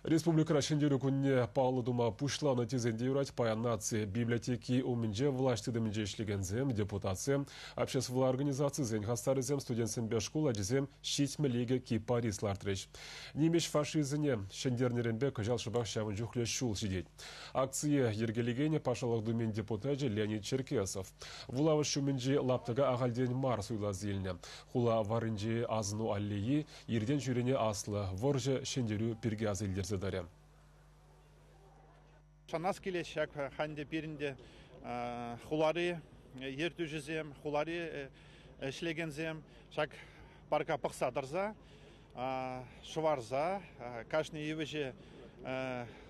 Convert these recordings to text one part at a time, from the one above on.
Республикӑра Ҫӗнтерӳ кунне паллӑ тума пуҫланӑ тесен те юрать. Паян наци библиотеки умӗнче влаҫ тытӑмӗнче ӗҫлекенсем, депутатсем, обществӑлла организацисен хастарӗсем, студентсемпе шкул ачисем 72 кипарис лартрӗҫ. Нимӗҫ фашизмне ҫӗнтернӗренпе кӑҫал шӑпах ҫавӑн чухлӗ ҫул ҫитет. Акцие йӗркелекенӗ Патшалӑх Думин депутачӗ Леонид Черкесов. Вулавӑш ҫумӗнчи лаптӑка ахальтен мар суйласа илнӗ. Хула варринчи асӑну аллейи Иртен-ҫӳрене аслӑ вӑрҫӑ ҫӗнтерӳ пирки аса илтерсе тӑрӗ. Шанас килет ҫак ханте пирӗн те хулари ертӳҫӗсем, хулари ӗҫлекенсем ҫак парка пӑхса тӑрса, шӑварса, кашни йывӑҫе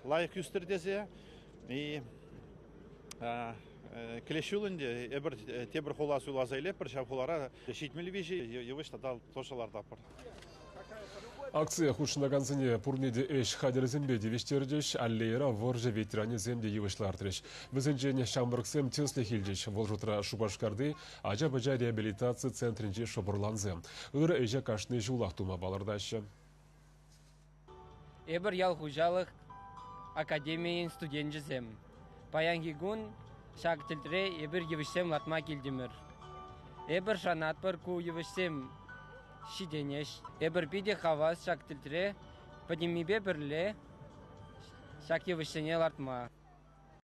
лайӑх ӳстӗр тесе и килес ҫул ӗнтӗ эпир тепӗр хула суйласа илетпӗр, ҫав хулара 73 йывӑҫ тата тоже лартатпӑр. Акцие хутшӑнакансене пурне те ӗҫ хатӗрӗсемпе тивӗҫтерчӗҫ, аллейӑра вӑрҫӑ ветеранӗсем те йывӑҫ лартрӗҫ. Вӗсенчен ҫамрӑксем тӗслӗх илчӗҫ. Вӑл шутра Шупашкарти ача-пӑча реабилитаци центрӗнчи шӑпӑрлансем. Ырӑ ӗҫе кашни ҫулах тума палӑртаҫҫӗ. Эпир ял хуҫалӑх академийӗн студенчӗсем. Паянхи кун ҫак тӗлтре эпир йывӑҫсем лартма килтӗмӗр. Эпир шанатпӑр, ку йывӑҫсем ҫитӗнӗҫ. Эпир питӗ хавас ҫак тӗлтре пӗтӗммипе пӗрле ҫак йывӑҫсене лартма.